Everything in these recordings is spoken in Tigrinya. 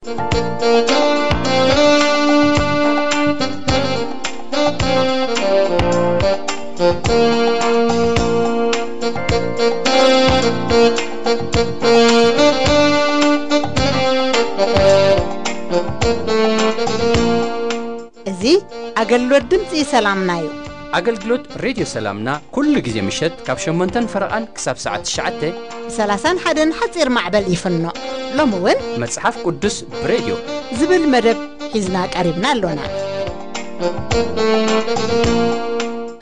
እዚ ኣገልግሎት ድምፂ ሰላምና እዩ። ኣገልግሎት ሬድዮ ሰላምና ኩሉ ግዜ ምሸት ካብ ሸሞንተን ፈረቓን ክሳብ ሰዓት ትሽዓተ ብ ሰላሳን ሓደን ሓፂር ማዕበል ይፍኖ። ሎሚ እውን መጽሓፍ ቅዱስ ብሬድዮ ዝብል መደብ ሒዝና ቀሪብና ኣሎና።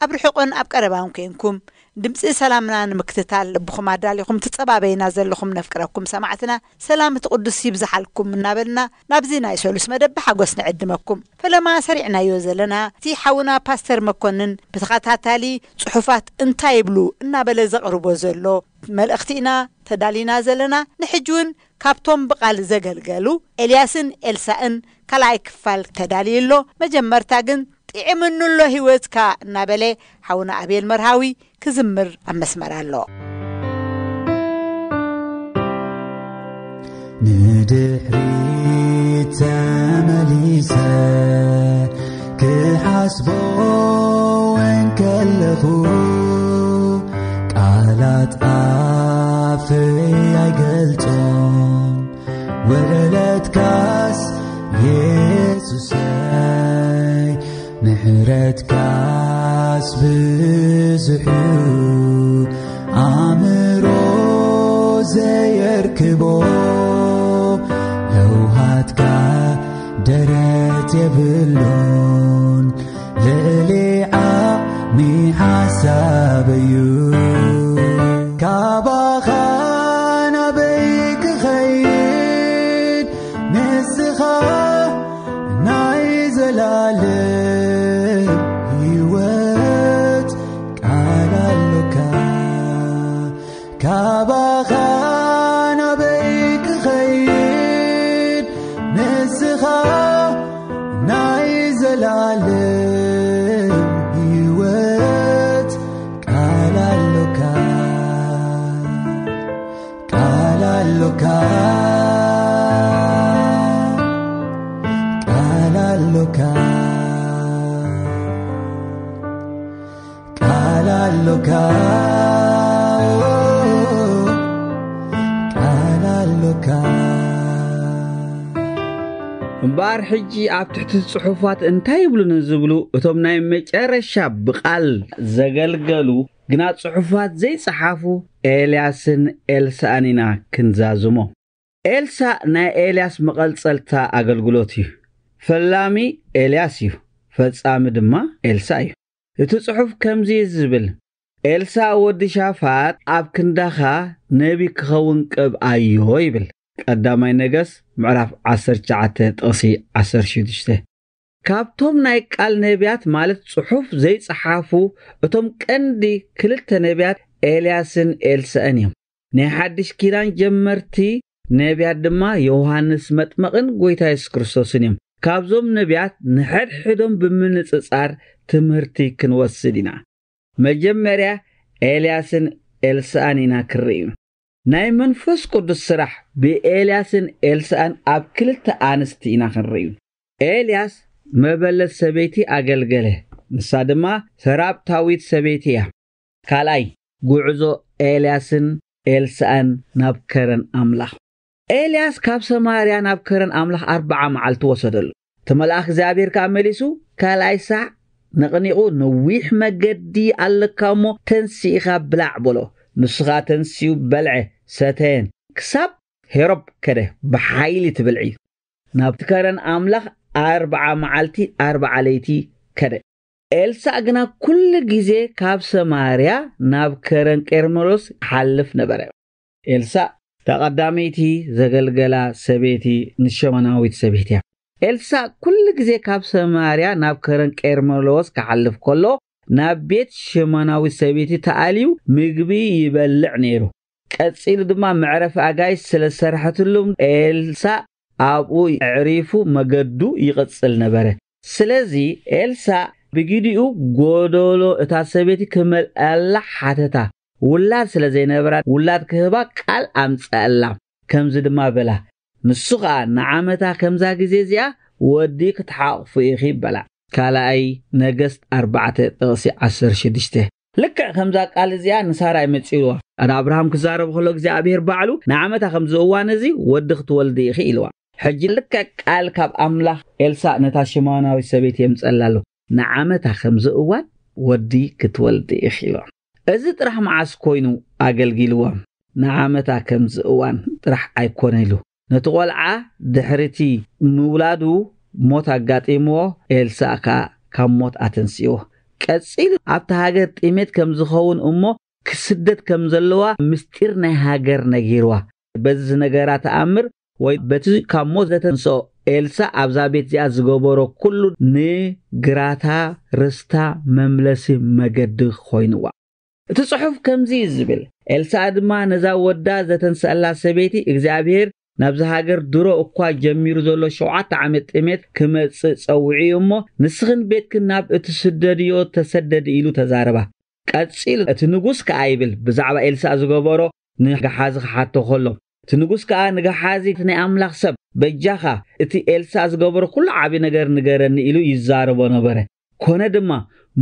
ኣብ ርሑቕን ኣብ ቀረባን ኮንኩም ድምፂ ሰላምና ንምክትታል ልብኹም ኣዳሊኹም ትጸባበይና ዘለኹም ነፍቅረኩም ሰማዕትና ሰላም እቲ ቅዱስ ይብዝሓልኩም እናበልና ናብዚ ናይ ሰሉስ መደብ ብሓጎስ ንዕድመኩም። ፈለማ ሰሪዕናዮ ዘለና እቲ ሓውና ፓስተር መኮንን ብተኸታታሊ ጽሑፋት እንታይ ይብሉ እናበለ ዘቕርቦ ዘሎ መልእኽቲ ኢና ተዳሊና ዘለና። ንሕጂ እውን ካብቶም ብቓል ዘገልገሉ ኤልያስን ኤልሳእን ካልኣይ ክፋል ተዳልዩ ኣሎ። መጀመርታ ግን ጥዕምኑ ኣሎ ህይወትካ እናበለ ሓውና ኣቤል መርሃዊ ክዝምር ኣብ መስመር ኣሎ። ንድሕሪት ተመሊሰ ክሓስቦ እንከለኹ ቃላት ኣፈይ ኣይገልጾም። ውዕለትካስ የሱሰይ ምሕረትካስ ብዙሑ ኣእምሮ ዘየርክቦ ለውሃትካ ደረት የብሉን ልዕሊ ዓቕሚ ሓሳብ እዩ። ካባኻ ናበይ ክኸይድ ንስኻ ናይ ዘላለም ህይወት ቃል ኣሎካ። ካባኻ ናበይ ክኸይድ ንስኻ ናይ ዘላለም ህይወት ቃል ኣሎካ። ቃል ኣሎካ። ቃል ኣሎካ። ቃል ኣሎካ። ቃል ኣሎካ። እምበኣር ሕጂ ኣብ ትሕቲ ጽሑፋት እንታይ ይብሉ ንዝብሉ እቶም ናይ መጨረሻ ብቓል ዘገልገሉ ግና ጽሑፋት ዘይጸሓፉ ኤልያስን ኤልሳእን ኢና ክንዛዝሞ። ኤልሳእ ናይ ኤልያስ መቐጸልታ ኣገልግሎት እዩ። ፈላሚ ኤልያስ እዩ፣ ፈጻሚ ድማ ኤልሳእ እዩ። እቲ ጽሑፍ ከምዚ እዩ ዝብል፣ ኤልሳእ ወዲ ሻፋጥ ኣብ ክንዳኻ ነቢ ክኸውን ቅብኣዮ ይብል። ቀዳማይ ነገስ ምዕራፍ ዓሰርተ ትሽዓተ ጥቕሲ ዓሰርተ ሽዱሽተ። ካብቶም ናይ ቃል ነቢያት ማለት ጽሑፍ ዘይጸሓፉ እቶም ቀንዲ ክልተ ነቢያት ኤልያስን ኤልሳእን እዮም። ናይ ሓድሽ ኪዳን ጀመርቲ ነቢያት ድማ ዮሃንስ መጥመቕን ጎይታ የሱስ ክርስቶስን እዮም። ካብዞም ነቢያት ንሕድሕዶም ብምንጽጻር ትምህርቲ ክንወስድ ኢና። መጀመርያ ኤልያስን ኤልሳእን ኢና ክንርእዩ። ናይ መንፈስ ቅዱስ ስራሕ ብኤልያስን ኤልሳእን ኣብ ክልተ ኣንስቲ ኢና ክንርእዩ። ኤልያስ መበለት ሰበይቲ ኣገልገለ። ንሳ ድማ ሰራብታዊት ሰበይቲ እያ። ካልኣይ፣ ጉዕዞ ኤልያስን ኤልሳእን ናብ ከረን ኣምላኽ። ኤልያስ ካብ ሰማርያ ናብ ከረን ኣምላኽ ኣርብዓ መዓልቲ ወሰደሉ። እቲ መልኣኽ እግዚኣብሔር ከኣ መሊሱ፣ ካልኣይ ሳዕ ነቕኒቑ፣ "ነዊሕ መገዲ ኣለካ እሞ ተንሲእኻ ብላዕ" በሎ። ንሱ ኸኣ ተንሲኡ በልዐ፣ ሰተየን፣ ክሳብ ሄሮብ ከደ። ብሓይሊ ትብልዒ። ናብቲ ከረን ኣምላኽ ኣርብዓ መዓልቲ ኣርብዓ ለይቲ ከደ። ኤልሳእ ግና ኩሉ ግዜ ካብ ሰማርያ ናብ ከረን ቄርሜሎስ ይሓልፍ ነበረ። ኤልሳእ እታ ቀዳመይቲ ዘገልገላ ሰበይቲ ንሸሞናዊት ሰበይቲ እያ። ኤልሳእ ኩሉ ግዜ ካብ ሰማርያ ናብ ከረን ቄርሜሎስ ክሓልፍ ከሎ ናብ ቤት ሸሞናዊት ሰበይቲ ተኣልዩ ምግቢ ይበልዕ ነይሩ። ቀጺሉ ድማ መዕረፊ ኣጋይሽ ስለ ዝሰርሐትሉ ኤልሳእ ኣብኡ ኣዕሪፉ መገዱ ይቕጽል ነበረ። ስለዚ ኤልሳእ ብግዲኡ ጎደሎ እታ ሰበይቲ ክመልኣላ ሓተታ። ውላድ ስለ ዘይነበራ ውላድ ክህባ ቃል ኣምጽኣላ። ከምዚ ድማ በላ፣ ንሱ ኸኣ ንዓመታ ከምዛ ግዜ እዚኣ ወዲ ክትሓቕፉ ኢኺ በላ። ካልኣይ ነገስት ኣርባዕተ ጥቕሲ ዓሰርተ ሽዱሽተ። ልክዕ ከምዛ ቃል እዚኣ ንሳራይ መጺእዋ። ንኣብርሃም ክዛረብ ከሎ እግዚኣብሔር ባዕሉ ንዓመታ ከምዚ እዋን እዚ ወዲ ክትወልዲ ኢኺ ኢልዋ። ሕጂ ልክዕ ቃል ካብ ኣምላኽ ኤልሳእ ነታ ሽማውናዊት ሰበይቲ የምጸላ ኣሎ። ንዓመታ ከምዚ እዋን ወዲ ክትወልዲ ኢኺ ኢልዋ። እዚ ጥራሕ መዓስ ኮይኑ ኣገልጊልዎም? ንዓመታ ከምዚ እዋን ጥራሕ ኣይኮነ ኢሉ። ነቲ ቆልዓ ድሕሪቲ ምውላዱ ሞት ኣጋጢምዎ፣ ኤልሳእ ከኣ ካብ ሞት ኣተንስእዎ። ቀጺሉ ኣብቲ ሃገር ጥሜት ከም ዝኸውን እሞ ክስደት ከም ዘለዋ ምስጢር ናይ ሃገር ነጊርዋ። በዚ ዝነገራ ተኣምር ወይ በቲ ካብ ሞት ዘተንስኦ ኤልሳእ ኣብዛ ቤት እዚኣ ዝገበሮ ኩሉ ንግራታ ርስታ መምለሲ መገዲ ኮይንዋ። እቲ ጽሑፍ ከምዚ እዩ ዝብል፣ ኤልሳእ ድማ ነዛ ወዳ ዘተንስኣላ ሰበይቲ እግዚኣብሔር ናብዚ ሃገር ድሮ እኳ ጀሚሩ ዘሎ ሸውዓተ ዓመት ጥሜት ክመጽእ ጸውዒ እሞ ንስኽን ቤትክን ናብ እትስደድዮ ተሰደዲ ኢሉ ተዛረባ። ቀጺሉ እቲ ንጉስ ከኣ ይብል ብዛዕባ ኤልሳእ ዝገበሮ ንገሓዚ ክሓቶ ከሎ፣ እቲ ንጉስ ከኣ ንገሓዚ እቲ ናይ ኣምላኽ ሰብ በጃኻ እቲ ኤልሳእ ዝገበሮ ኩሉ ዓቢ ነገር ንገረኒ ኢሉ ይዛረቦ ነበረ። ኮነ ድማ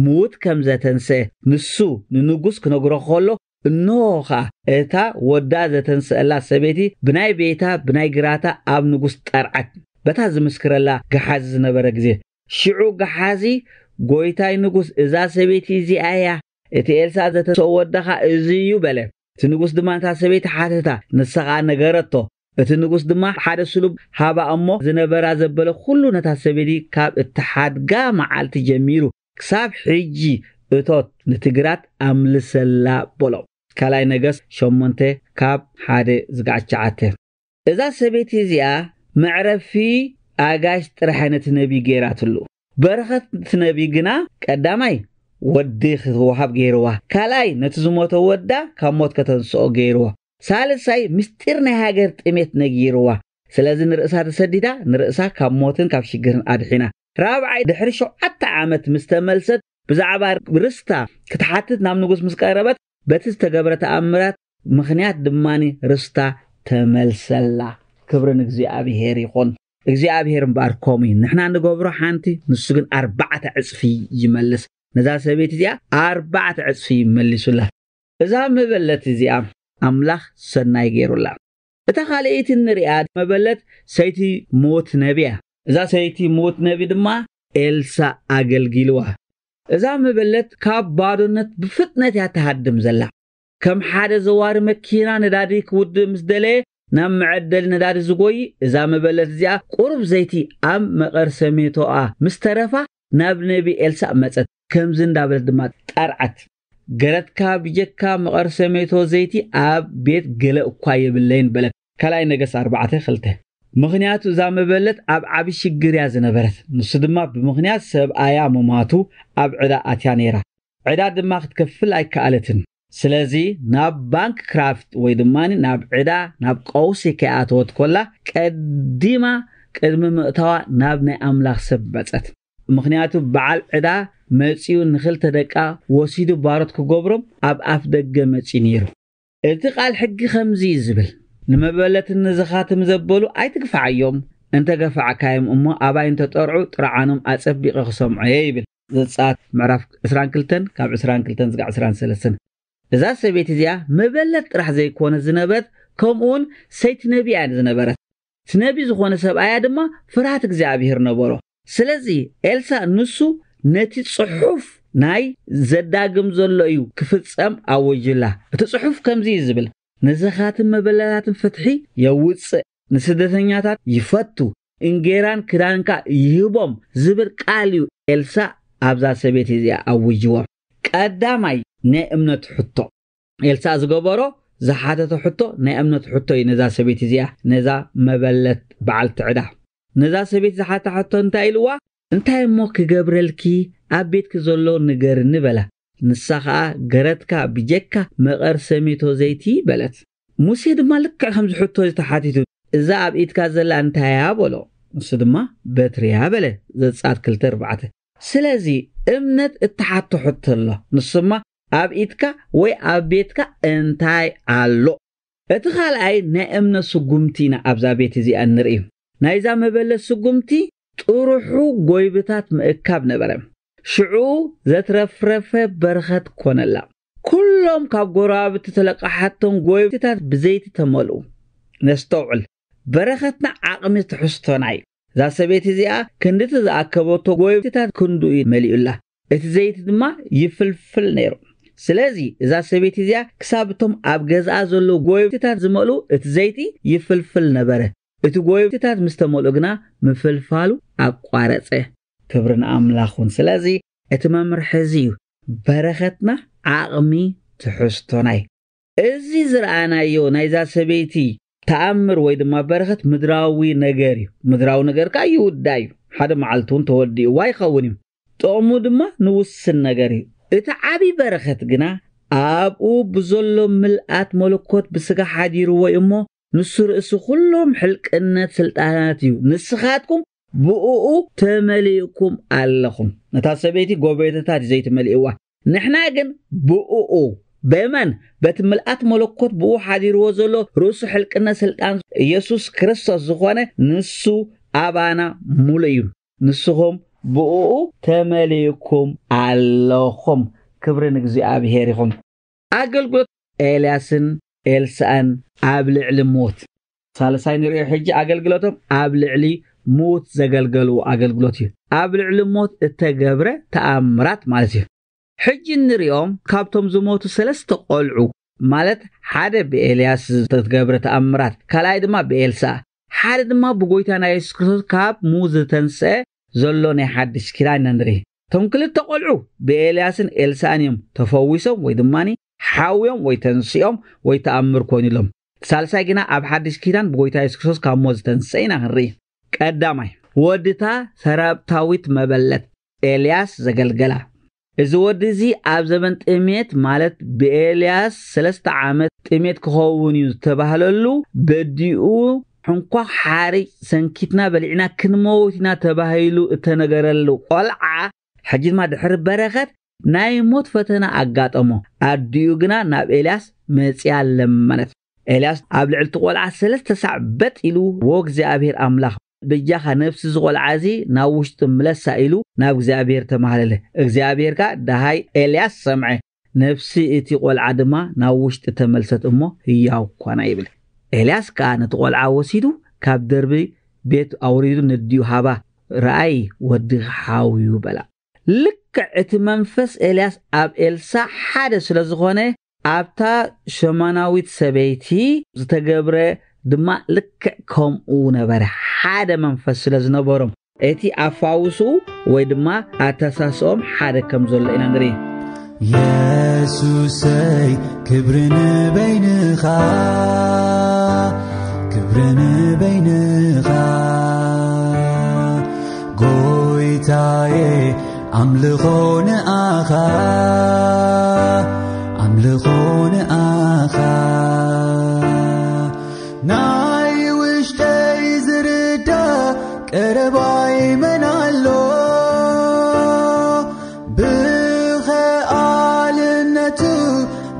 ምዉት ከም ዘተንስአ ንሱ ንንጉስ ክነግሮ ከሎ እንሆ ኸኣ እታ ወዳ ዘተንስአላ ሰበይቲ ብናይ ቤታ ብናይ ግራታ ኣብ ንጉስ ጠርዓት በታ ዝምስክረላ ገሓዚ ዝነበረ ግዜ። ሽዑ ገሓዚ ጎይታይ ንጉስ እዛ ሰበይቲ እዚኣ እያ፣ እቲ ኤልሳእ ዘተንስኦ ወዳኻ እዚ እዩ በለ። እቲ ንጉስ ድማ ነታ ሰበይቲ ሓተታ፣ ንሳ ኸኣ ነገረቶ። እቲ ንጉስ ድማ ሓደ ስሉብ ሃባ እሞ ዝነበራ ዘበለ ኩሉ ነታ ሰበይቲ ካብ እትሓድጋ መዓልቲ ጀሚሩ ክሳብ ሕጂ እቶት ንትግራት ኣምልሰላ በሎ። ካልኣይ ነገስት ሸሞንተ ካብ ሓደ ዝጋዕ ትሽዓተ። እዛ ሰበይቲ እዚኣ መዕረፊ ኣጋይሽ ጥራሕ ነቲ ነቢ ገይራትሉ። በረኸት እቲ ነቢ ግና ቀዳማይ ወዲ ክትወሃብ ገይርዋ፣ ካልኣይ ነቲ ዝሞተ ወዳ ካብ ሞት ከተንስኦ ገይርዎ፣ ሳልሳይ ምስጢር ናይ ሃገር ጥሜት ነጊርዋ። ስለዚ ንርእሳ ተሰዲዳ ንርእሳ ካብ ሞትን ካብ ሽግርን ኣድሒና። ራብዓይ ድሕሪ ሸውዓተ ዓመት ምስ ተመልሰት ብዛዕባ ርስታ ክትሓትት ናብ ንጉስ ምስ ቀረበት በቲ ዝተገብረ ተኣምራት ምኽንያት ድማ ርስታ ተመልሰላ። ክብሪ ንእግዚኣብሔር ይኹን። እግዚኣብሔር እምበኣር ከምኡ እዩ። ንሕና ንገብሮ ሓንቲ ንሱ ግን ኣርባዕተ ዕጽፊ ይመልስ። ነዛ ሰበይቲ እዚኣ ኣርባዕተ ዕጽፊ መሊሱላ። እዛ መበለት እዚኣ ኣምላኽ ሰናይ ገይሩላ። እታ ካልኣይቲ እንሪኣ መበለት ሰይቲ ምዉት ነቢ እያ። እዛ ሰይቲ ምዉት ነቢ ድማ ኤልሳ ኣገልጊልዋ። እዛ መበለት ካብ ባዶነት ብፍጥነት እያ ትሃድም ዘላ። ከም ሓደ ዘዋሪ መኪና ነዳዲ ክውድእ ምስ ደለየ ናብ መዐደሊ ነዳዲ ዝጎይ፣ እዛ መበለት እዚኣ ቁሩብ ዘይቲ ኣብ መቐርሰሜቶኣ ምስ ተረፋ ናብ ነቢ ኤልሳእ መጸት። ከምዚ እንዳበለት ድማ ጠርዓት፣ ገረትካ ብጀካ መቐርሰሜቶ ዘይቲ ኣብ ቤት ገለ እኳ የብለይን በለት። ካልኣይ ነገስት ኣርባዕተ ክልተ። ምኽንያቱ እዛ መበለት ኣብ ዓቢ ሽግር እያ ዝነበረት። ንሱ ድማ ብምኽንያት ሰብኣያ ምማቱ ኣብ ዕዳ ኣትያ ነይራ። ዕዳ ድማ ክትከፍል ኣይከኣለትን። ስለዚ ናብ ባንክ ክራፍት ወይ ድማ ናብ ዕዳ ናብ ቀውሲ ከይኣተወት ኮላ ቀዲማ ቅድሚ ምእታዋ ናብ ናይ ኣምላኽ ሰብ መጸት። ምኽንያቱ በዓል ዕዳ መጺኡ ንኽልተ ደቃ ወሲዱ ባሮት ክገብሮም ኣብ ኣፍ ደገ መጺኡ ነይሩ። እቲ ቃል ሕጊ ከምዚ እዩ ዝብል፣ ንመበለትን ንዝኻትም ዘበሉ ኣይትግፋዓዮም፣ እንተ ገፋዕካዮም እሞ ኣባይ እንተ ጠርዑ ጥርዓኖም ኣጸቢቐ ክሰምዖ እየ ይብል። ዘጸኣት ምዕራፍ ዕስራን ክልተን ካብ ዕስራን ክልተን ዝጋዕ ዕስራን ሰለስተን። እዛ ሰበይቲ እዚኣ መበለት ጥራሕ ዘይኮነ ዝነበረት ከምኡውን ሰይቲ ነቢ እያ ዝነበረት። እቲ ነቢ ዝኾነ ሰብኣያ ድማ ፍርሃት እግዚኣብሔር ነበሮ። ስለዚ ኤልሳእ ንሱ ነቲ ጽሑፍ ናይ ዘዳግም ዘሎ እዩ ክፍጸም ኣወጅላ። እቲ ጽሑፍ ከምዚ እዩ ዝብል፣ ንዝኻትን መበለታትን ፍትሒ የውጽእ፣ ንስደተኛታት ይፈቱ፣ እንጌራን ክዳንካ ይህቦም ዝብል ቃል እዩ ኤልሳእ ኣብዛ ሰበይቲ እዚኣ ኣውጅዎ። ቀዳማይ ናይ እምነት ሕቶ። ኤልሳእ ዝገበሮ ዝሓተቶ ሕቶ ናይ እምነት ሕቶ እዩ። ነዛ ሰበይቲ እዚኣ ነዛ መበለት በዓልቲ ዕዳ ነዛ ሰበይቲ ዝሓታ ሕቶ እንታይ ኢልዋ? እንታይ እሞ ክገብረልኪ ኣብ ቤትኪ ዘሎ ንገርኒ በላ። ንሳ ኸኣ ገረትካ ብጀካ መቐር ሰሜቶ ዘይቲ በለት። ሙሴ ድማ ልክዕ ከምዚ ሕቶ እዚ ተሓቲቱ እዛ ኣብ ኢድካ ዘላ እንታይ እያ በሎ። ንሱ ድማ በትሪ እያ በለ። ዘጸኣት ክልተ ኣርባዕተ። ስለዚ እምነት እትሓቶ ሕቶ ኣሎ። ንሱማ ኣብ ኢድካ ወይ ኣብ ቤትካ እንታይ ኣሎ? እቲ ካልኣይ ናይ እምነት ስጉምቲ ኢና ኣብዛ ቤት እዚኣ ንርኢ። ናይዛ መበለት ስጉምቲ ጥሩሑ ጎይብታት ምእካብ ነበረ። ሽዑ ዘትረፍረፈ በረኸት ኮነላ። ኩሎም ካብ ጎረባብቲ ተለቃሓቶም ጎይብታት ብዘይቲ ተመልኡ። ነስተውዕል፣ በረኸትና ዓቕሚ ትሕዝቶና እዩ። እዛ ሰበይቲ እዚኣ ክንድቲ ዝኣከበቶ ጎይብታት ክንድኡ እዩ መሊኡላ። እቲ ዘይቲ ድማ ይፍልፍል ነይሩ። ስለዚ እዛ ሰበይቲ እዚኣ ክሳብ እቶም ኣብ ገዛኣ ዘለዉ ጎይብታት ዝመልኡ እቲ ዘይቲ ይፍልፍል ነበረ። እቲ ጎይብታት ምስ ተመልኡ ግና ምፍልፋሉ ኣቋረጸ። ክብሪ ንኣምላኽ ይኹን። ስለዚ እቲ መምርሒ እዚ እዩ። በረኸትና ዓቕሚ ትሕዝቶና እዩ። እዚ ዝረኣናዮ ናይዛ ሰበይቲ ተኣምር ወይ ድማ በረኸት ምድራዊ ነገር እዩ። ምድራዊ ነገር ከኣ ይውዳእ እዩ። ሓደ መዓልቲ እውን ተወዲእዋ ይኸውን እዩ። ጥቕሙ ድማ ንውስን ነገር እዩ። እቲ ዓቢ በረኸት ግና ኣብኡ ብዘሎ ምልኣት መለኮት ብስጋ ሓዲርዎ እዩ እሞ፣ ንሱ ርእሲ ኩሎም ሕልቅነት ስልጣናት እዩ። ንስኻትኩም ብእኡ ተመሊእኩም ኣለኹም። ነታ ሰበይቲ ጎበይተታት እዩ ዘይትመልእዋ። ንሕና ግን ብእኡ፣ በመን? በቲ ምልኣት መለኮት ብኡ ሓዲርዎ ዘሎ ርእሱ ሕልቅነት ስልጣን ኢየሱስ ክርስቶስ ዝኾነ ንሱ ኣባና ሙሉእ እዩ። ንስኹም ብእኡ ተመሊእኩም ኣለኹም። ክብሪ ንእግዚኣብሔር ይኹን። ኣገልግሎት ኤልያስን ኤልሳእን ኣብ ልዕሊ ሞት። ሳልሳይ ንሪኦ ሕጂ ኣገልግሎቶም ኣብ ልዕሊ ሞት ዘገልገልዎ ኣገልግሎት እዩ። ኣብ ልዕሊ ሞት እተገብረ ተኣምራት ማለት እዩ። ሕጂ እንሪኦም ካብቶም ዝሞቱ ሰለስተ ቆልዑ፣ ማለት ሓደ ብኤልያስ ዝተገብረ ተኣምራት፣ ካልኣይ ድማ ብኤልሳእ፣ ሓደ ድማ ብጎይታና የሱስ ክርስቶስ ካብ ሙት ዝተንስአ ዘሎ ናይ ሓድሽ ኪዳን ኢና ንርኢ። እቶም ክልተ ቆልዑ ብኤልያስን ኤልሳእን እዮም ተፈዊሶም ወይ ድማ ሓውዮም ወይ ተንሲኦም ወይ ተኣምር ኮይኑሎም። እቲ ሳልሳይ ግና ኣብ ሓድሽ ኪዳን ብጎይታ የሱስ ክርስቶስ ካብ ሞት ዝተንስአ ኢና ክንርኢ። ቀዳማይ፣ ወድታ ሰራብታዊት መበለት ኤልያስ ዘገልገላ። እዚ ወዲ እዚ ኣብ ዘመን ጥሜት፣ ማለት ብኤልያስ ሰለስተ ዓመት ጥሜት ክኸውን እዩ ዝተባህለሉ፣ በዲኡ ሕንኳ ሓርጭ ሰንኪትና በሊዕና ክንመውት ኢና ተባሂሉ እተነገረሉ ቆልዓ፣ ሕጂ ድማ ድሕሪ በረኸት ናይ ሞት ፈተና ኣጋጠሞ። ኣዲኡ ግና ናብ ኤልያስ መጺኣ ለመነት። ኤልያስ ኣብ ልዕሊ እቲ ቆልዓ ሰለስተ ሳዕ በጥ ኢሉ፣ "ዎ እግዚኣብሔር ኣምላኽ፣ በጃኻ ነፍሲ እዚ ቆልዓ እዚ ናብ ውሽጢ ምለሳ" ኢሉ ናብ እግዚኣብሔር ተማህለለ። እግዚኣብሔር ከኣ፣ "ደሃይ ኤልያስ ሰምዐ፣ ነፍሲ እቲ ቆልዓ ድማ ናብ ውሽጢ ተመልሰት እሞ ህያው ኮነ" ይብል። ኤልያስ ከኣ ነቲ ቆልዓ ወሲዱ ካብ ደርቢ ቤት ኣውሪዱ ነዲኡ ሃባ፣ "ረኣይ፣ ወድኺ ሓውዩ" በላ። ልክዕ እቲ መንፈስ ኤልያስ ኣብ ኤልሳዕ ሓደ ስለ ዝኾነ፣ ኣብታ ሸማናዊት ሰበይቲ ዝተገብረ ድማ ልክዕ ከምኡ ነበረ። ሓደ መንፈስ ስለ ዝነበሮም፣ እቲ ኣፋውስኡ ወይ ድማ ኣተሳስኦም ሓደ ከም ዘሎ ኢና ንርኢ። የሱሰይ፣ ክብሪ ንበይንኻ፣ ክብሪ ንበይንኻ፣ ጎይታየ፣ ኣምልኾ ንኣኻ፣ ኣምልኾ ንኣኻ። ናይ ውሽጠይ ዝርዳእ ቀረባይ መን ኣሎ? ብኸኣልነቱ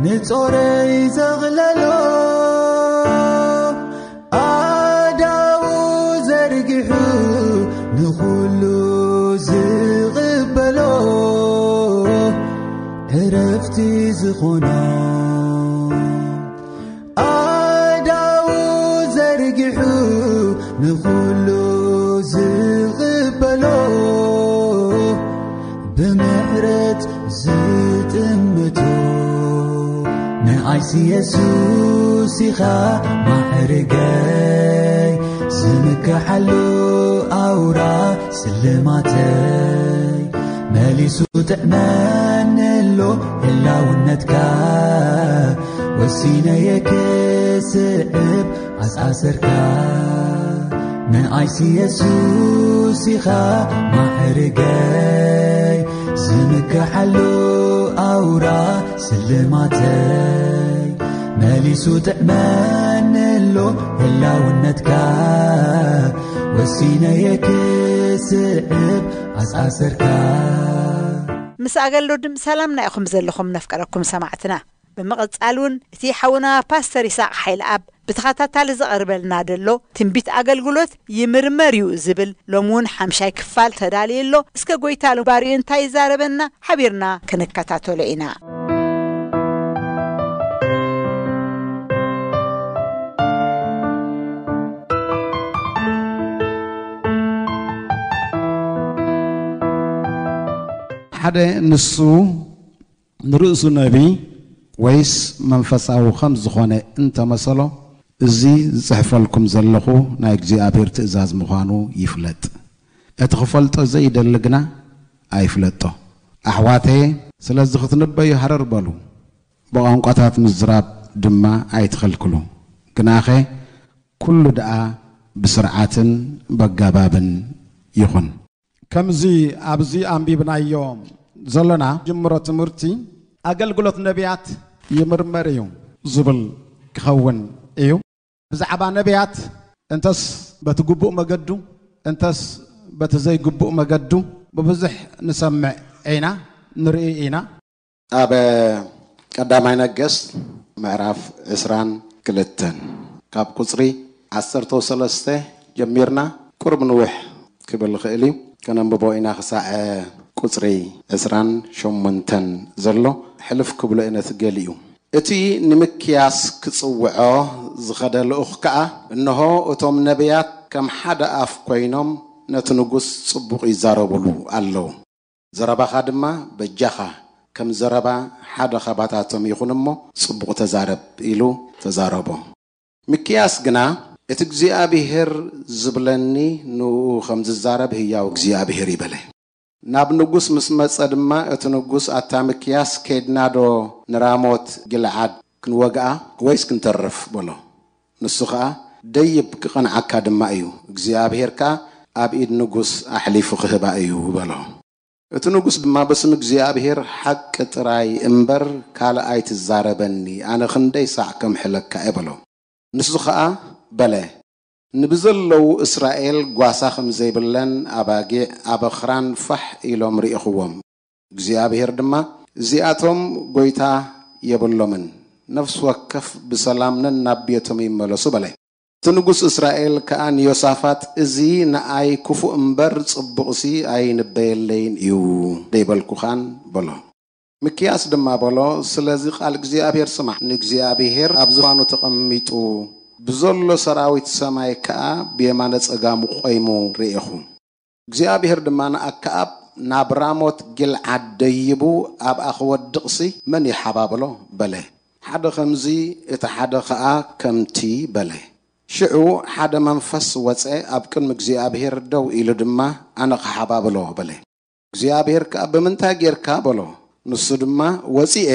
ንጾረይ ዘቕለሎ፣ ኣእዳዉ ዘርጊሑ ንኹሉ ዝቕበሎ፣ ዕረፍቲ ዝኾኖ። ኣእዳዉ ዘርጊሑ ንኹሉ ዝቕበሎ፣ ብምሕረት ዝጥምቶ። ንኣይሲ የሱስ ኢኻ ማዕርገይ፣ ዝምክሓሉ ኣውራ ስልማተይ። መሊሱ ጥዕመኒ ኣሎ ህላውነትካ፣ ወሲነየ ክስዕብ ኣስኣሰርካ። ንኣይሲ የሱስ ኢኻ ማዕርገይ፣ ዝምክሓሉ ኣውራ ስልማተይ። መሊሱ ጥዕመኒ ኣሎ ህላውነትካ፣ ወሲነየ ክስዕብ ኣስኣሰርካ። ምስ ኣገልግሎት ድምፂ ሰላም ናይኹም ዘለኹም ነፍቀረኩም ሰማዕትና። ብምቕጻል እውን እቲ ሓውና ፓስተር ይስሐቅ ሓይለኣብ ብተኸታታሊ ዝቐርበልና ዘሎ ትንቢት ኣገልግሎት ይምርመር እዩ ዝብል ሎሚ እውን ሓምሻይ ክፋል ተዳልዩ ኣሎ። እስከ ጎይታ ባርኡ እንታይ ይዛረበና ሓቢርና ክንከታተሎ ኢና። ሓደ ንሱ ንርእሱ ነቢ ወይስ መንፈሳዊ ከም ዝኾነ እንተመሰሎ፣ እዚ ዝጽሕፈልኩም ዘለኹ ናይ እግዚኣብሔር ትእዛዝ ምዃኑ ይፍለጥ። እቲ ክፈልጦ ዘይደሊ ግና ኣይፍለጦ። ኣሕዋተየ፣ ስለዚ ክትንበዩ ሃረር በሉ፣ ብቋንቋታት ምዝራብ ድማ ኣይትኸልክሉ። ግናኸ ኩሉ ደኣ ብስርዓትን በጋባብን ይኹን። ከምዚ ኣብዚ ኣንቢብናዮ ዘለና ጅምሮ ትምህርቲ ኣገልግሎት ነቢያት ይምርመር እዩ ዝብል ክኸውን እዩ። ብዛዕባ ነቢያት እንተስ በቲ ግቡእ መገዱ እንተስ በቲ ዘይግቡእ መገዱ ብብዙሕ ንሰምዕ ኢና፣ ንርኢ ኢና። ኣብ ቀዳማይ ነገስት ምዕራፍ ዕስራን ክልተን ካብ ቁጽሪ ዓሰርተ ሰለስተ ጀሚርና ቁሩብ ንውሕ ክብል ይኽእል እዩ። ከነንብቦ ኢና ክሳዕ ቁጽሪ ዕስራን ሸሞንተን ዘሎ። ሕልፍ ክብሎ እየ ነቲ ገሊኡ። እቲ ንምክያስ ክጽውዖ ዝኸደ ልኡኽ ከኣ፣ እንሆ፣ እቶም ነብያት ከም ሓደ ኣፍ ኰይኖም ነቲ ንጉስ ጽቡቕ ይዛረቡሉ ኣለዉ። ዘረባኻ ድማ በጃኻ ከም ዘረባ ሓደ ኻባታቶም ይኹን እሞ፣ ጽቡቕ ተዛረብ፣ ኢሉ ተዛረቦ። ሚክያስ ግና፣ እቲ እግዚኣብሄር ዝብለኒ ንእኡ ኸም ዝዛረብ ህያው እግዚኣብሄር እዩ፣ በለ። ናብ ንጉስ ምስ መጸ ድማ፣ እቲ ንጉስ፣ ኣታ ሚክያስ፣ ኬድናዶ ንራሞት ጊልዓድ ክንወግኣ ወይስ ክንተርፍ? በሎ። ንሱ ኸኣ፣ ደይብ፣ ክቐንዓካ ድማ እዩ፣ እግዚኣብሄር ከኣ ኣብ ኢድ ንጉስ ኣሕሊፉ ኽህባ እዩ፣ በሎ። እቲ ንጉስ ድማ፣ በስም እግዚኣብሄር ሓቂ ጥራይ እምበር ካልእ ኣይትዛረበኒ፣ ኣነ ክንደይ ሳዕ ከምሕለካ እየ፣ በሎ። ንሱ ኸኣ በለ፣ ንብዘለዉ እስራኤል ጓሳ ከም ዘይብለን ኣባጊዕ ኣብ ኣኽራን ፋሕ ኢሎም ርኢኽዎም። እግዚኣብሄር ድማ፣ እዚኣቶም ጐይታ የብሎምን፣ ነፍሲ ወከፍ ብሰላም ነናብ ቤቶም ይመለሱ፣ በለ። እቲ ንጉስ እስራኤል ከኣ ንዮሳፋጥ፣ እዚ ንኣይ ክፉእ እምበር ጽቡቕሲ ኣይንበየለይን እዩ ደይበልኩኻን፣ በሎ። ሚክያስ ድማ በሎ፣ ስለዚ ቃል እግዚኣብሄር ስማዕ፣ ንእግዚኣብሄር ኣብ ዝፋኑ ተቐሚጡ ብዘሎ ሰራዊት ሰማይ ከኣ ብየማነ ጸጋሙ ቖይሙ ርኤኹ። እግዚኣብሄር ድማ ንኣከኣብ፣ ናብ ራሞት ጊልዓድ ደይቡ ኣብኣ ክወድቕሲ መን ይሓባብሎ? በለ። ሓደ ኸምዚ፣ እቲ ሓደ ኸኣ ከምቲ፣ በለ። ሽዑ ሓደ መንፈስ ወጸ፣ ኣብ ቅድሚ እግዚኣብሄር ደው ኢሉ ድማ፣ ኣነ ክሓባብሎ፣ በለ። እግዚኣብሄር ከኣ፣ ብምንታይ ጌርካ? በሎ። ንሱ ድማ፣ ወጺኤ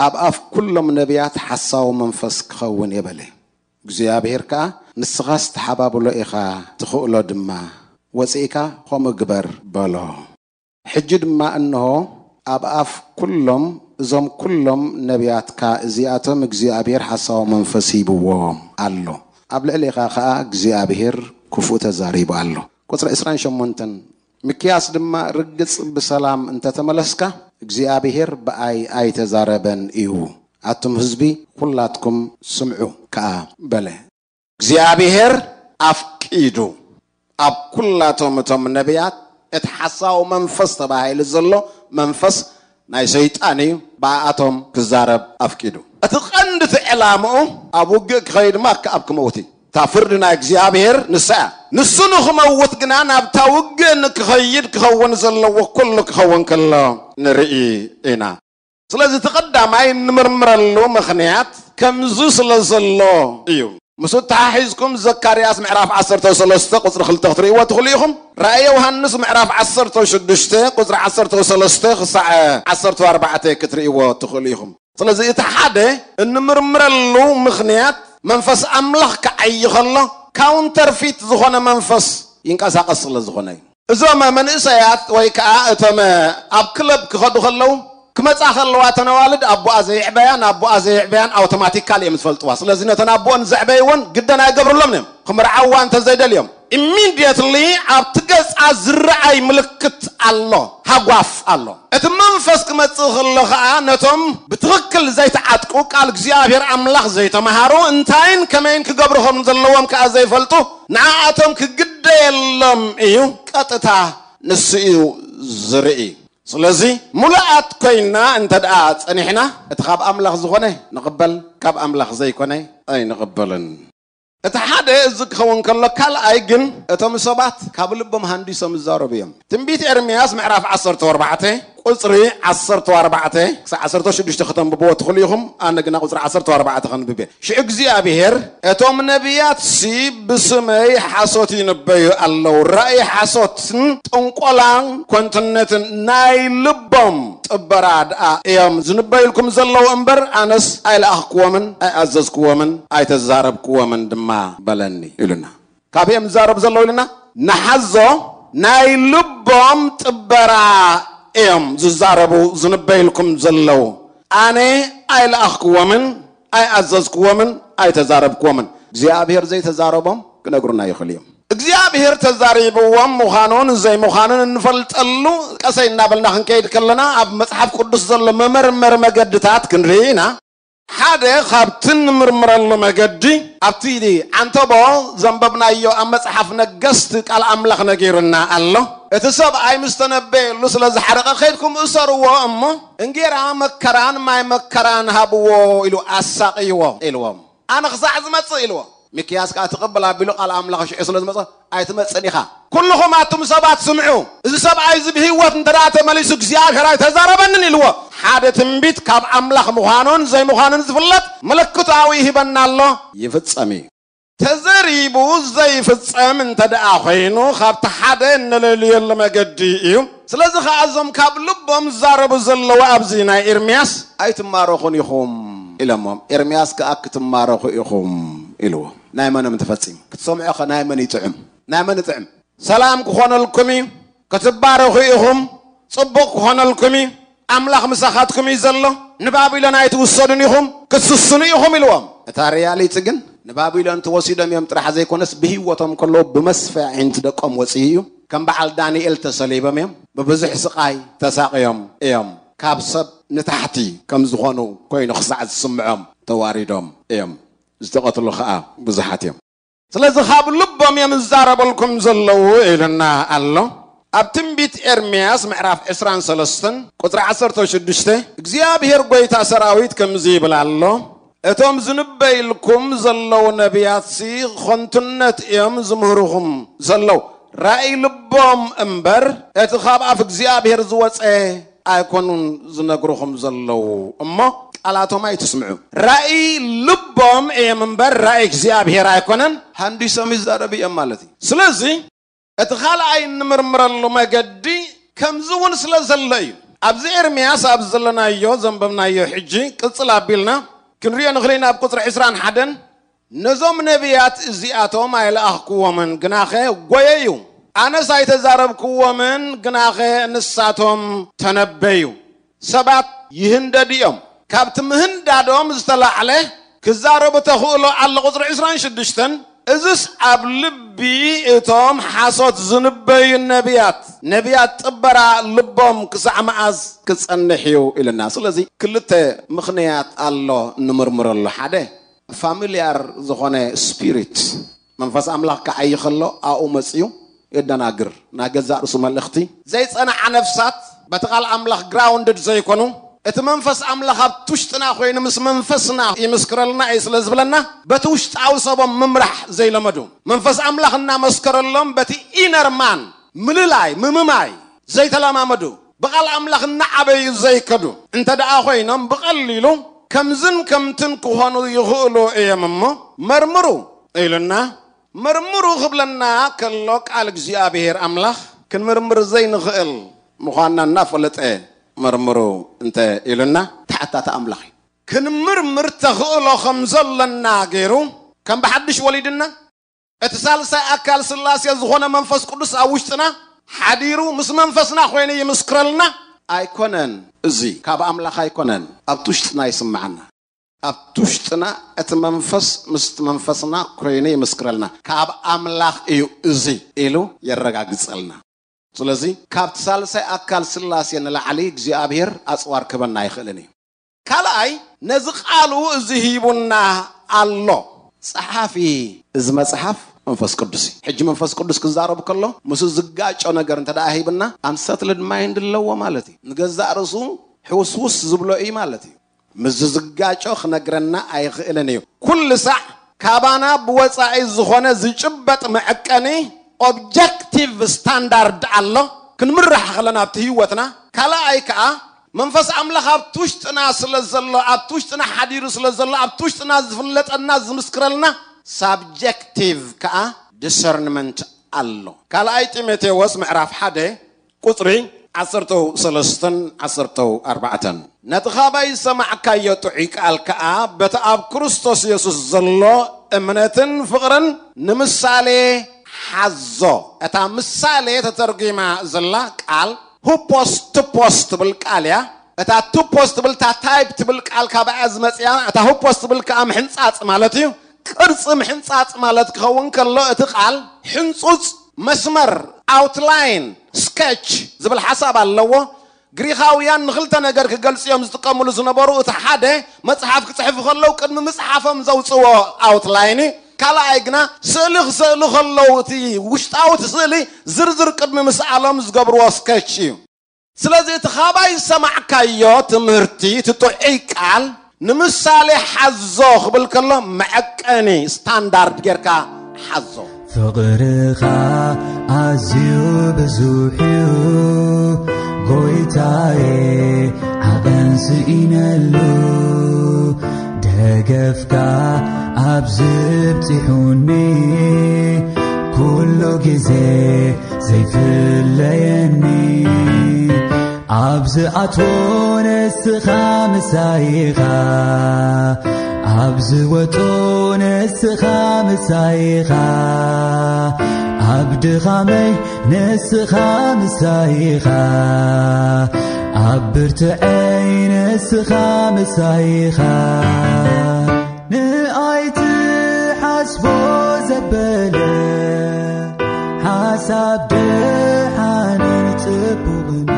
ኣብ ኣፍ ኵሎም ነብያት ሓሳዊ መንፈስ ክኸውን እየ፣ በለ። እግዚኣብሄር ከኣ፣ ንስኻስ ትሓባብሎ ኢኻ፣ ትኽእሎ ድማ፣ ወጺእካ ኸምኡ ግበር፣ በሎ። ሕጂ ድማ እንሆ፣ ኣብ ኣፍ ኵሎም እዞም ኵሎም ነብያትካ እዚኣቶም እግዚኣብሄር ሓሳዊ መንፈስ ሂብዎም ኣሎ፣ ኣብ ልዕሌኻ ኸኣ እግዚኣብሄር ክፉእ ተዛሪቡ ኣሎ። ቁጽሪ ዕስራን ሸሞንተን፣ ሚክያስ ድማ ርግጽ ብሰላም እንተ ተመለስካ፣ እግዚኣብሄር ብኣይ ኣይተዛረበን እዩ፣ ኣቱም ህዝቢ ኵላትኩም ስምዑ ከኣ በለ። እግዚኣብሄር ኣፍቂዱ ኣብ ኵላቶም እቶም ነብያት እቲ ሓሳዊ መንፈስ ተባሂሉ ዘሎ መንፈስ ናይ ሰይጣን እዩ፣ ብኣኣቶም ክዛረብ ኣፍቂዱ። እቲ ቐንዲ እቲ ዕላምኡ ኣብ ውግእ ክኸይድ እሞ ኣከኣብ ክመውት እዩ። እታ ፍርዲ ናይ እግዚኣብሄር ንሳ እያ። ንሱ ንኽመውት ግና ናብታ ውግእ ንክኸይድ ክኸውን ዘለዎ ኩሉ ክኸውን ከሎ ንርኢ ኢና። ስለዚ እቲ ቀዳማይ እንምርምረሉ ምኽንያት ከምዚ ስለ ዘሎ እዩ። ምስኡ ተሓሒዝኩም ዘካርያስ ምዕራፍ ዓሰርተ ሰለስተ ቁጽሪ ክልተ ክትርእይዎ ትኽእሉ ኢኹም። ራእይ ዮሃንስ ምዕራፍ ዓሰርተ ሽዱሽተ ቁጽሪ ዓሰርተ ሰለስተ ክሳዕ ዓሰርተ ኣርባዕተ ክትርእይዎ ትኽእሉ ኢኹም። ስለዚ እቲ ሓደ እንምርምረሉ ምኽንያት መንፈስ ኣምላኽ ክዓዪ ከሎ ካውንተርፊት ዝኾነ መንፈስ ይንቀሳቐስ ስለ ዝኾነ እዩ። እዞም መንእሰያት ወይ ከዓ እቶም ኣብ ክለብ ክኸዱ ከለዉ ክመጻ ከለዋ እተን ኣዋልድ ኣቦኣ ዘየዕበያን ኣቦኣ ዘየዕበያን ኣውቶማቲካል እዮም ዝፈልጥዋ። ስለዚ ነተን ኣቦኦን ዘዕበይወን ግደን ኣይገብርሎምን እዮም። ክምርዓዋ እንተዘይደልዮም ኢሚድየትሊ ኣብቲ ገጻ ዝረኣይ ምልክት ኣሎ፣ ሃጓፍ ኣሎ። እቲ መንፈስ ክመጽእ ከሎ ኸኣ ነቶም ብትኽክል ዘይተዓጥቁ፣ ቃል እግዚኣብሔር ኣምላኽ ዘይተምሃሩ፣ እንታይን ከመይን ክገብሩ ከም ዘለዎም ከኣ ዘይፈልጡ፣ ንዓኣቶም ክግደየሎም እዩ። ቀጥታ ንሱ እዩ ዝርኢ። ስለዚ ሙሉኣት ኮይና እንተ ደኣ ጸኒሕና፣ እቲ ካብ ኣምላኽ ዝኾነ ንቕበል፣ ካብ ኣምላኽ ዘይኮነ ኣይንቕበልን። እቲ ሓደ እዚ ክኸውን ከሎ፣ ካልኣይ ግን እቶም ሰባት ካብ ልቦም ሃንዲሶም ይዛረቡ እዮም። ትንቢት ኤርምያስ ምዕራፍ ዓሰርተ ኣርባዕተ ቁጽሪ ዓሰርተ ኣርባዕተ ክሳዕ ዓሰርተ ሽዱሽተ ከተንብብዎ ትኽእሉ ኢኹም። ኣነ ግና ቁጽሪ ዓሰርተ ኣርባዕተ ከንብብ እየ። ሽዑ እግዚኣብሔር፣ "እቶም ነቢያትሲ ብስመይ ሓሶት ይንበዩ ኣለዉ። ራእይ ሓሶትን ጥንቆላን ኮንትነትን ናይ ልቦም ጥበራ ደኣ እዮም ዝንበዩልኩም ዘለዉ እምበር፣ ኣነስ ኣይለኣኽክዎምን ኣይኣዘዝክዎምን ኣይተዛረብክዎምን ድማ በለኒ" ኢሉና። ካበይ እዮም ዝዛረቡ ዘለዉ ኢልና ንሓዞ። ናይ ልቦም ጥበራ እዮም ዝዛረቡ ዝንበዩልኩም ዘለዉ። ኣነ ኣይለኣኽክዎምን ኣይኣዘዝክዎምን ኣይተዛረብክዎምን። እግዚኣብሔር ዘይተዛረቦም ክነግሩና ይኽእሉ እዮም። እግዚኣብሔር ተዛሪብዎም ምዃኑን ዘይምዃኑን እንፈልጠሉ ቀሰይ እናበልና ክንከይድ ከለና፣ ኣብ መጽሓፍ ቅዱስ ዘሎ መመርመሪ መገድታት ክንርኢ ኢና። ሓደ ካብቲ እንምርምረሉ መገዲ፣ ኣብቲ ዓንተቦ ዘንበብናዮ ኣብ መጽሓፍ ነገስት ቃል ኣምላኽ ነጊሩና ኣሎ። እቲ ሰብኣይ ምስ ተነበየሉ ስለ ዝሓረቐ፣ "ከይድኩም እሰርዎ እሞ እንጌራ መከራን ማይ መከራን ሃብዎ" ኢሉ ኣሳቕይዎ ኢልዎም። "ኣነ ክሳዕ ዝመጽእ" ኢልዎ። ሚክያስ ከኣ "ትቕብል" ኣቢሉ ቃል ኣምላኽ ሽዑ ስለ ዝመጸ፣ "ኣይትመጽን ኢኻ። ኩልኹም ኣቱም ሰባት ስምዑ። እዚ ሰብኣይ እዚ ብህይወት እንተ ደኣ ተመሊሱ እግዚኣብሔር ኣይተዛረበንን" ኢልዎ። ሓደ ትንቢት ካብ ኣምላኽ ምዃኑን ዘይምዃኑን ዝፍለጥ ምልክታዊ ይህበና ኣሎ። ይፍጸም እዩ። ተዘሪቡ ዘይፍጸም እንተ ደኣ ኾይኑ፣ ካብቲ ሓደ እንለልየሉ መገዲ እዩ። ስለዚ ኸኣ እዞም ካብ ልቦም ዝዛረቡ ዘለዉ ኣብዚ ናይ ኤርምያስ፣ "ኣይትማረኹን ኢኹም" ኢሎሞም። ኤርምያስ ከኣ "ክትማረኹ ኢኹም" ኢልዎ። ናይ መኖም ተፈጺሙ? ክትሰምዖ ኸ ናይ መን ይጥዕም? ናይ መን ይጥዕም? "ሰላም ክኾነልኩም እዩ፣ ክትባረኹ ኢኹም፣ ጽቡቕ ክኾነልኩም እዩ፣ ኣምላኽ ምሳኻትኩም እዩ ዘሎ፣ ንባቢሎን ኣይትውሰዱን ኢኹም፣ ክትስስኑ ኢኹም" ኢልዎም። እታ ሪያሊቲ ግን ንባቢሎን ተወሲዶም እዮም ጥራሕ ዘይኮነስ ብህይወቶም ከለዉ ብመስፍያ ኣዒንቲ ደቆም ወጺኡ እዩ። ከም በዓል ዳንኤል ተሰሊቦም እዮም፣ ብብዙሕ ስቓይ ተሳቕዮም እዮም። ካብ ሰብ ንታሕቲ ከም ዝኾኑ ኮይኑ ክሳዕ ዝስምዖም ተዋሪዶም እዮም። ዝተቐትሉ ኸኣ ብዙሓት እዮም። ስለዚ ካብ ልቦም እዮም ዝዛረበልኩም ዘለዉ ኢልና ኣሎ። ኣብ ትንቢት ኤርምያስ ምዕራፍ ዕስራን ሰለስተን ቁጽሪ ዓሰርተ ሽዱሽተ እግዚኣብሔር ጐይታ ሰራዊት ከምዚ ይብል ኣሎ፣ "እቶም ዝንበይልኩም ዘለዉ ነቢያትሲ ኸንቱነት እዮም ዝምህርኹም ዘለዉ። ራእይ ልቦም እምበር እቲ ካብ ኣፍ እግዚኣብሔር ዝወጸ ኣይኮኑን ዝነግርኹም ዘለዉ እሞ ቃላቶም ኣይትስምዑ። ራእይ ልቦም እዮም እምበር ራእይ እግዚኣብሔር ኣይኮነን፣ ሃንዲሶም ይዛረቡ እዮም" ማለት እዩ። ስለዚ እቲ ካልኣይ እንምርምረሉ መገዲ ከምዚ እውን ስለ ዘሎ እዩ። ኣብዚ ኤርምያስ ኣብ ዘለናዮ ዘንበብናዮ ሕጂ ቅጽል ኣቢልና ክንሪኦ ንኽእል ኢና። ኣብ ቁጽሪ ዕስራን ሓደን፣ "ነዞም ነቢያት እዚኣቶም ኣይለኣኽክዎምን፣ ግናኸ ጐየዩ። ኣነስ ኣይተዛረብክዎምን፣ ግናኸ ንሳቶም ተነበዩ። ሰባት ይህንደዱ እዮም። ካብቲ ምህንዳዶም ዝተላዕለ ክዛረቡ ተኽእሎ ኣሎ" ቁጽሪ ዕስራን ሽዱሽተን፣ "እዝስ ኣብ ልቢ እቶም ሓሶት ዝንበዩ ነቢያት፣ ነቢያት ጥበራ ልቦም ክሳዕ መኣዝ ክጸንሕ እዩ?" ኢልና። ስለዚ ክልተ ምኽንያት ኣሎ ንምርምረሉ። ሓደ፣ ፋሚልያር ዝኾነ ስፒሪት፣ መንፈስ ኣምላኽ ክዓዪ ከሎ ኣብኡ መጺኡ የደናግር። ናይ ገዛእ ርእሱ መልእኽቲ ዘይጸንዓ ነፍሳት በቲ ቃል ኣምላኽ ግራውንድድ ዘይኮኑ፣ እቲ መንፈስ ኣምላኽ ኣብቲ ውሽጥና ኮይኑ ምስ መንፈስና ይምስክረልና እዩ ስለ ዝብለና፣ በቲ ውሽጣዊ ሰቦም ምምራሕ ዘይለመዱ፣ መንፈስ ኣምላኽ እናመስከረሎም በቲ ኢነር ማን ምልላይ፣ ምምማይ ዘይተለማመዱ፣ ብቓል ኣምላኽ እናዓበዩ ዘይከዱ እንተ ደኣ ኮይኖም፣ ብቐሊሉ ከምዝን ከምትን ክኾኑ ይኽእሉ እዮም እሞ መርምሩ ኢሉና። መርምሩ ክብለና ከሎ፣ ቃል እግዚኣብሔር ኣምላኽ ክንምርምር ዘይንኽእል ምዃንና እናፈለጠ መርምሩ እንተ ኢሉና፣ ተሓታቲ ኣምላኽ እዩ። ክንምርምር ተኽእሎ ከም ዘለና ገይሩ፣ ከም ብሓድሽ ወሊድና፣ እቲ ሳልሳይ ኣካል ስላሴ ዝኾነ መንፈስ ቅዱስ ኣብ ውሽጥና ሓዲሩ ምስ መንፈስና ኮይኑ ይምስክረልና። ኣይኮነን፣ እዚ ካብ ኣምላኽ ኣይኮነን፣ ኣብቲ ውሽጥና ይስምዓና። ኣብቲ ውሽጥና እቲ መንፈስ ምስቲ መንፈስና ኮይኑ ይምስክረልና። ካብ ኣምላኽ እዩ እዚ ኢሉ የረጋግጸልና። ስለዚ ካብቲ ሳልሳይ ኣካል ስላሴ ንላዕሊ እግዚኣብሔር ኣጽዋር ክበና ኣይኽእልን እዩ። ካልኣይ፣ ነዚ ቃሉ እዚ ሂቡና ኣሎ። ጸሓፊ እዚ መጽሓፍ መንፈስ ቅዱስ እዩ። ሕጂ መንፈስ ቅዱስ ክዛረብ ከሎ ምስ ዝጋጮ ነገር እንተ ደኣ ሂብና፣ ኣንሰትልድ ማይንድ ኣለዎ ማለት እዩ። ንገዛእ ርእሱ ሕውስውስ ዝብሎ እዩ ማለት እዩ። ምስ ዝጋጮ ክነግረና ኣይኽእልን እዩ። ኩሉ ሳዕ ካባና ብወጻኢ ዝኾነ ዝጭበጥ መዐቀኒ፣ ኦብጀክቲቭ ስታንዳርድ ኣሎ። ክንምራሕ ከለና ኣብቲ ህይወትና፣ ካልኣይ ከኣ መንፈስ ኣምላኽ ኣብቲ ውሽጥና ስለ ዘሎ፣ ኣብቲ ውሽጥና ሓዲሩ ስለ ዘሎ፣ ኣብቲ ውሽጥና ዝፍለጠና ዝምስክረልና ሳብጀክቲቭ ከኣ ዲሰርንመንት ኣሎ። ካልኣይ ጢሞቴዎስ ምዕራፍ ሓደ ቁጽሪ ዓሰርተ ሰለስተን ዓሰርተ ኣርባዕተን፣ ነቲ ኻባይ ዝሰማዕካዮ ጥዑይ ቃል ከኣ በቲ ኣብ ክርስቶስ የሱስ ዘሎ እምነትን ፍቕርን ንምሳሌ ሓዞ። እታ ምሳሌ ተተርጒማ ዘላ ቃል ሁፖስ ቱፖስ ትብል ቃል እያ። እታ ቱፖስ ትብል፣ እታ ታይፕ ትብል ቃል ካባኣ ዝመጽያ፣ እታ ሁፖስ ትብል ከኣ ምሕንጻጽ ማለት እዩ። ቅርጺ ምሕንጻጽ ማለት ክኸውን ከሎ፣ እቲ ቃል ሕንጹጽ፣ መስመር፣ ኣውትላይን፣ ስኬች ዝብል ሓሳብ ኣለዎ። ግሪኻውያን ንኽልተ ነገር ክገልጽ እዮም ዝጥቀምሉ ዝነበሩ። እቲ ሓደ፣ መጽሓፍ ክጽሕፉ ከለዉ ቅድሚ ምጽሓፎም ዘውጽዎ ኣውትላይን እዩ። ካልኣይ ግና፣ ስእሊ ክስእሉ ከለዉ እቲ ውሽጣዊ እቲ ስእሊ ዝርዝር ቅድሚ ምስኣሎም ዝገብርዎ ስኬች እዩ። ስለዚ እቲ ኻባይ ዝሰማዕካዮ ትምህርቲ፣ እቲ ጥዑይ ቃል ንምሳሌ ሓዞ ክብል ከሎ መዐቀኒ ስታንዳርድ ጌርካ ሓዞ። ፍቕርኻ ኣዝዩ ብዙሕ እዩ ጎይታዬ፣ ዓቐን ስኢነሉ፣ ደገፍካ ኣብ ዝብጺሑኒ፣ ኩሉ ግዜ ዘይፍለየኒ። ኣብ ዝኣትዎ ንስኻ ምሳይ ኢኻ፣ ኣብ ዝወጾ ንስኻ ምሳይ ኢኻ፣ ኣብ ድኻመይ ንስኻ ምሳይ ኢኻ፣ ኣብ ብርትዐይ ንስኻ ምሳይ ኢኻ። ንኣይ ትሓስቦ ዘበለ ሓሳብ ደሓንን ጽቡቕን፣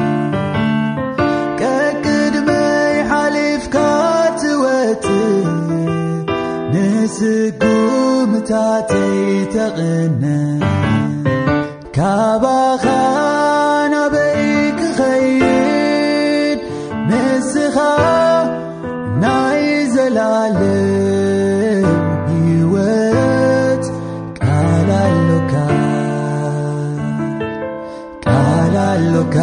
ቀቅድመይ ሓሊፍካ ትወጽእ፣ ንስጉምታተይ ተቕነ። ካባኻ ናበይ ክኸይድ ንስኻ ናይ ዘላለም ህይወት ቃል ኣሎካ፣ ቃል ኣሎካ፣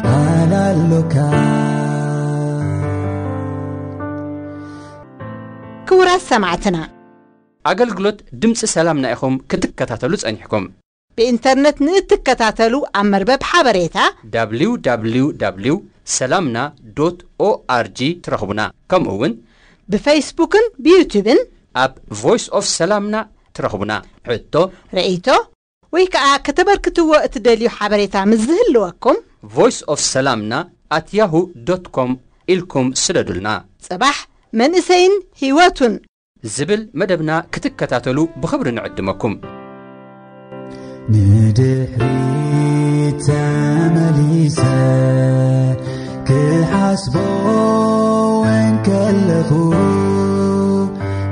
ቃል ኣሎካ። ክቡራት ሰማዕትና፣ ኣገልግሎት ድምፂ ሰላምና ኢኹም ክትከታተሉ ጸኒሕኩም። ብኢንተርነት ንእትከታተሉ ኣብ መርበብ ሓበሬታ ደብሊው ደብሊው ደብሊው ሰላምና ዶት ኦኣርጂ ትረኽቡና። ከምኡ እውን ብፌስቡክን ብዩቱብን ኣብ ቮይስ ኦፍ ሰላምና ትረኽቡና። ሕቶ፣ ርእይቶ ወይ ከዓ ከተበርክትዎ እትደልዩ ሓበሬታ ምስ ዝህልወኩም ቮይስ ኦፍ ሰላምና ኣት ያሁ ዶት ኮም ኢልኩም ስደዱልና። ጽባሕ መንእሰይን ህይወቱን ዝብል መደብና ክትከታተሉ ብኽብሪ ንዕድመኩም። ንድሕሪት ተመሊሰ ክሓስቦ እንከለኹ፣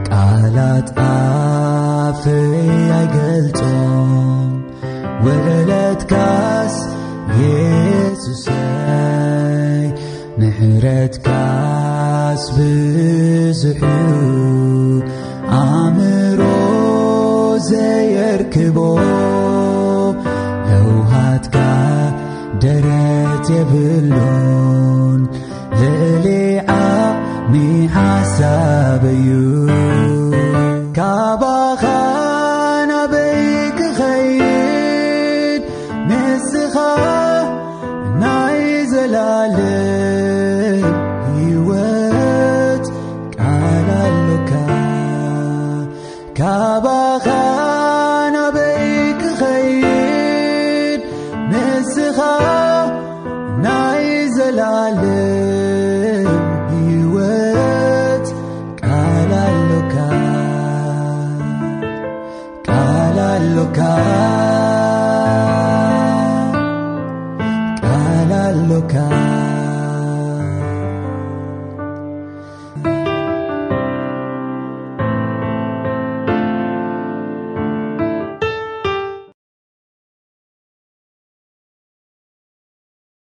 ቃላት ኣፈይ ኣይገልጾም። ውዕለትካስ የሱሰይ፣ ምሕረትካስ ብዙሕ እዩ፣ ኣእምሮ ዘየርክቦ። ለውሃትካ ደረት የብሉን፣ ልዕሊ ዓቕሚ ሓሳብ እዩ። ካባኻ ናበይ ክኸይድ ንስኻ ናይ ዘላለም ህይወት ቃል ኣሎካ። ካባኻ ናበይ ክኸይድ ንስኻ ናይ ዘላ ኣሎካ